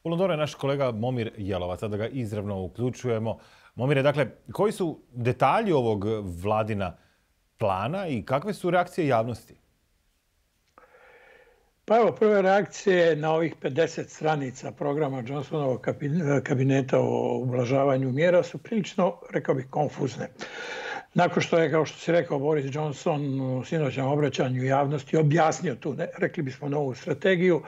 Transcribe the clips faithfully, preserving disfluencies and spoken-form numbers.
U Londonu je naš kolega Momir Jelovac, sada ga izravno uključujemo. Momire, dakle, koji su detalji ovog vladina plana i kakve su reakcije javnosti? Pa evo, prve reakcije na ovih pedeset stranica programa Johnsonovog kabineta o ublažavanju mjera su prilično, rekao bih, konfuzne. Nakon što je, kao što si rekao, Boris Johnson u sinoćnom obraćanju javnosti objasnio tu, ne, rekli bismo, novu strategiju,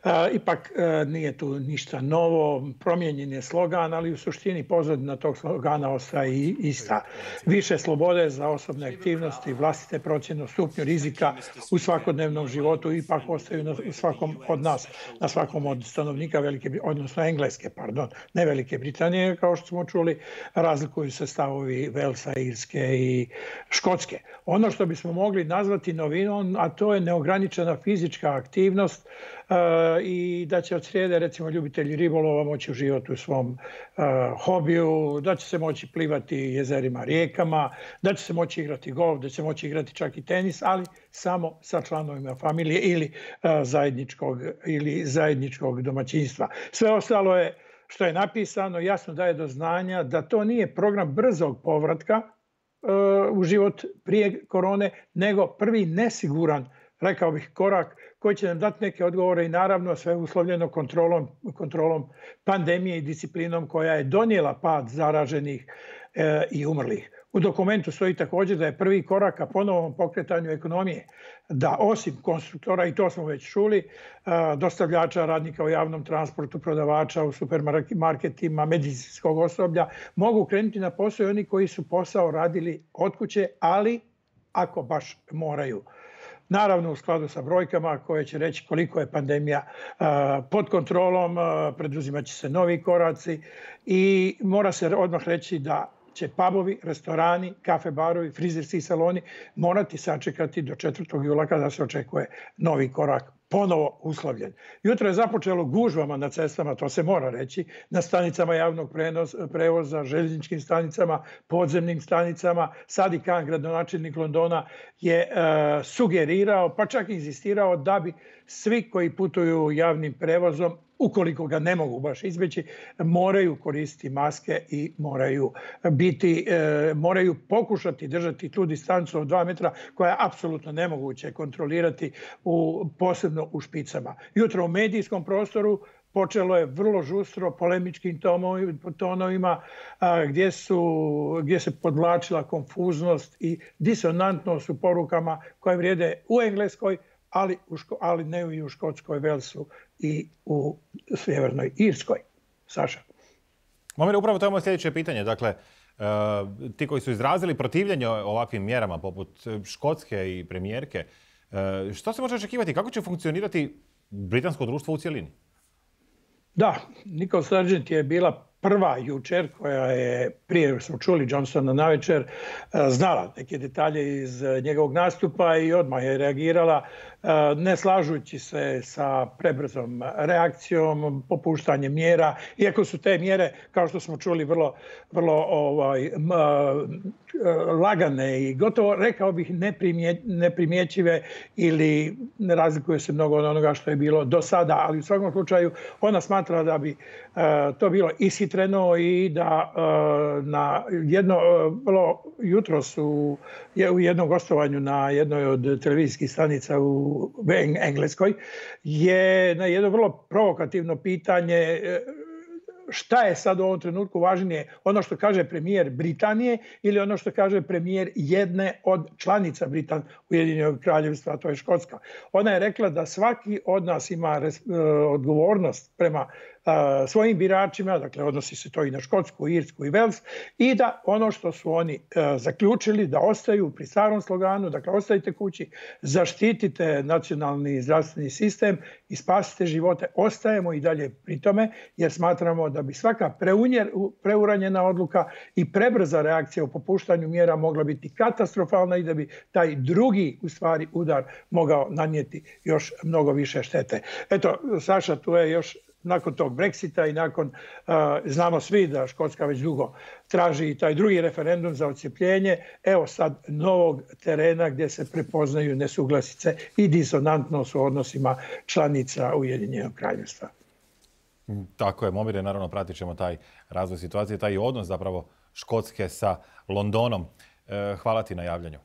a, ipak a, nije tu ništa novo, promijenjen je slogan, ali u suštini pozadina tog slogana ostaje i ista. Više slobode za osobne aktivnosti, vlastite procjene o stupnju rizika u svakodnevnom životu ipak ostaju na svakom od nas, na svakom od stanovnika Velike, odnosno Engleske, pardon, ne Velike Britanije, kao što smo čuli, razlikuju se stavovi Velsa, Irske i Škotske. Ono što bismo mogli nazvati novinom, a to je neograničena fizička aktivnost uh, i da će od srijede, recimo, ljubitelji ribolova moći uživati u svom uh, hobiju, da će se moći plivati jezerima, rijekama, da će se moći igrati golf, da će se moći igrati čak i tenis, ali samo sa članovima familije ili uh, zajedničkog, ili zajedničkog domaćinstva. Sve ostalo je što je napisano jasno daje do znanja da to nije program brzog povratka u život prije korone, nego prvi nesiguran, rekao bih, korak koji će nam dati neke odgovore i naravno sve uslovljeno kontrolom, kontrolom pandemije i disciplinom koja je donijela pad zaraženih e, i umrlih. U dokumentu stoji također da je prvi korak ka ponovnom pokretanju ekonomije, da osim konstruktora, i to smo već čuli, dostavljača, radnika u javnom transportu, prodavača u supermarketima, medicinskog osoblja, mogu krenuti na posao i oni koji su posao radili od kuće, ali ako baš moraju. Naravno, u skladu sa brojkama koje će reći koliko je pandemija pod kontrolom, preduzimat će se novi koraci i mora se odmah reći da će pubovi, restorani, kafe barovi, frizerski saloni morati sačekati do četvrtog jula kada se očekuje novi korak ponovo uslovljen. Jutro je započelo gužvama na cestama, to se mora reći, na stanicama javnog prevoza, željezničkim stanicama, podzemnim stanicama. Sadi Khan, gradonačelnik Londona, je uh, sugerirao, pa čak insistirao da bi svi koji putuju javnim prevozom, ukoliko ga ne mogu baš izbjeći, moraju koristiti maske i moraju biti, e, moraju pokušati držati tu distancu od dva metra koja je apsolutno nemoguće kontrolirati u, posebno u špicama. Jutro u medijskom prostoru počelo je vrlo žustro polemičkim tonovima a, gdje, su, gdje se podvlačila konfuznost i disonantnost u porukama koje vrijede u Engleskoj, ali, u ško, ali ne i u Škotskoj, Velsu i u Sjevernoj Irskoj. Saša. Momire, upravo to je moje sljedeće pitanje. Dakle, uh, ti koji su izrazili protivljenje ovakvim mjerama, poput Škotske i premijerke, uh, što se može očekivati? Kako će funkcionirati britansko društvo u cjelini? Da, Nicole Sturgeon je bila prva jučer koja je, prije smo čuli Johnsona navečer, znala neke detalje iz njegovog nastupa i odmah je reagirala, ne slažući se sa prebrzom reakcijom, popuštanjem mjera, iako su te mjere, kao što smo čuli, vrlo, vrlo ovaj, lagane i gotovo, rekao bih, neprimje, neprimjećive ili ne razlikuje se mnogo od onoga što je bilo do sada, ali u svakom slučaju ona smatra da bi uh, to bilo ishitreno i da uh, na jedno, uh, vrlo jutros u, u jednom gostovanju na jednoj od televizijskih stanica u Engleskoj je na jedno vrlo provokativno pitanje šta je sad u ovom trenutku važnije, ono što kaže premijer Britanije ili ono što kaže premijer jedne od članica Britan Ujedinjenog kraljevstva, to je Škotska. Ona je rekla da svaki od nas ima res, uh, odgovornost prema uh, svojim biračima, dakle odnosi se to i na Škotsku, Irsku i Vels, i da ono što su oni uh, zaključili da ostaju pri starom sloganu, dakle ostajte kući, zaštitite nacionalni zdravstveni sistem i spasite živote, ostajemo i dalje pri tome jer smatramo da bi svaka preunjer, preuranjena odluka i prebrza reakcija u popuštanju mjera mogla biti katastrofalna i da bi taj drugi, u stvari, udar mogao nanijeti još mnogo više štete. Eto, Saša, tu je još nakon tog Brexita i nakon, uh, znamo svi da Škotska već dugo traži i taj drugi referendum za odcijepljenje, evo sad novog terena gdje se prepoznaju nesuglasice i disonantnost u odnosima članica Ujedinjenog kraljevstva. Tako je, Momire, naravno pratit ćemo taj razvoj situacije, taj odnos zapravo Škotske sa Londonom. Hvala ti na javljanju.